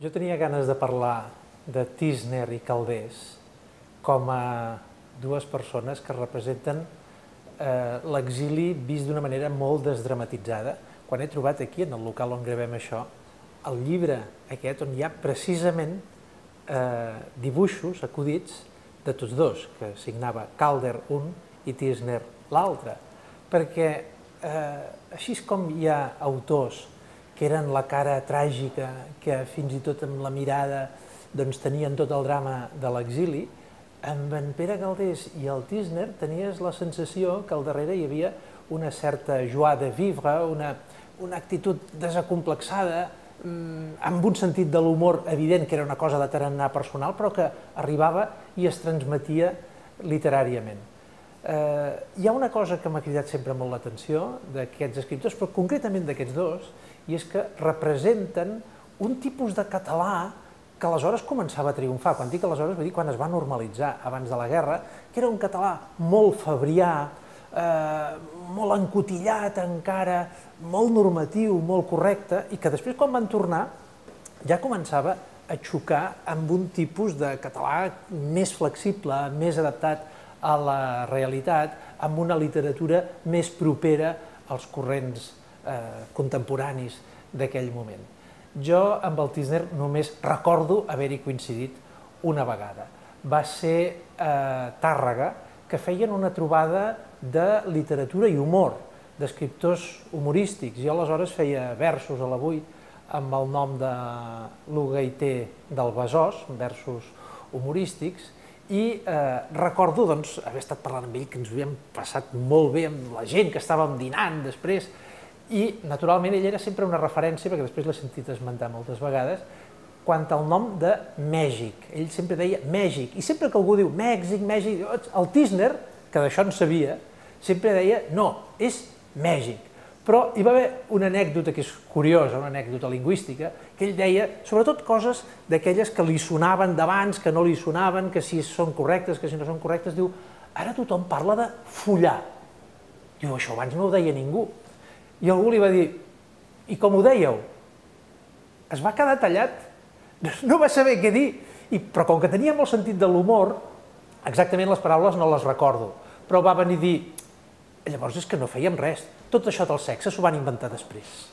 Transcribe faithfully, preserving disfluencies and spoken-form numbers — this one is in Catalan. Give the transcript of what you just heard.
Jo tenia ganes de parlar de Tísner i Calders com a dues persones que representen eh, l'exili vist d'una manera molt desdramatitzada. Quan he trobat aquí, en el local on gravem això, el llibre aquest on hi ha precisament eh, dibuixos acudits de tots dos, que signava Calder un i Tísner l'altre, perquè eh, així com hi ha autors que eren la cara tràgica, que fins i tot amb la mirada doncs, tenien tot el drama de l'exili, amb en Pere Calders i el Tísner tenies la sensació que al darrere hi havia una certa joie de vivre, una, una actitud desacomplexada, amb un sentit de l'humor evident, que era una cosa de tarannà personal, però que arribava i es transmetia literàriament. Eh, hi ha una cosa que m'ha cridat sempre molt l'atenció d'aquests escriptors, però concretament d'aquests dos, i és que representen un tipus de català que aleshores començava a triomfar. Quan dic aleshores, vull dir quan es va normalitzar abans de la guerra, que era un català molt fabrià, eh, molt encotillat encara, molt normatiu, molt correcte, i que després quan van tornar ja començava a xocar amb un tipus de català més flexible, més adaptat a la realitat, amb una literatura més propera als corrents eh, contemporanis d'aquell moment. Jo amb el Tísner només recordo haver-hi coincidit una vegada. Va ser a Tàrrega, que feien una trobada de literatura i humor, d'escriptors humorístics. Jo aleshores feia versos a l'Avui amb el nom de l'Ugaiter del Besòs, versos humorístics, i eh, recordo doncs, haver estat parlant amb ell, que ens ho havíem passat molt bé amb la gent que estàvem dinant després, i naturalment ell era sempre una referència, perquè després l'he sentit esmentar moltes vegades, quant al nom de Mèxic. Ell sempre deia Mèxic, i sempre que algú diu Mèxic, Mèxic, el Tísner, que d'això en sabia, sempre deia no, és Mèxic. Però hi va haver una anècdota que és curiosa, una anècdota lingüística, que ell deia, sobretot coses d'aquelles que li sonaven d'abans, que no li sonaven, que si són correctes, que si no són correctes, diu, ara tothom parla de follar. Diu, això abans no ho deia ningú. I algú li va dir, i com ho dèieu? Es va quedar tallat, no va saber què dir, I, però com que tenia molt sentit de l'humor, exactament les paraules no les recordo, però va venir a dir, llavors és que no fèiem res, tot això del sexe s'ho van inventar després.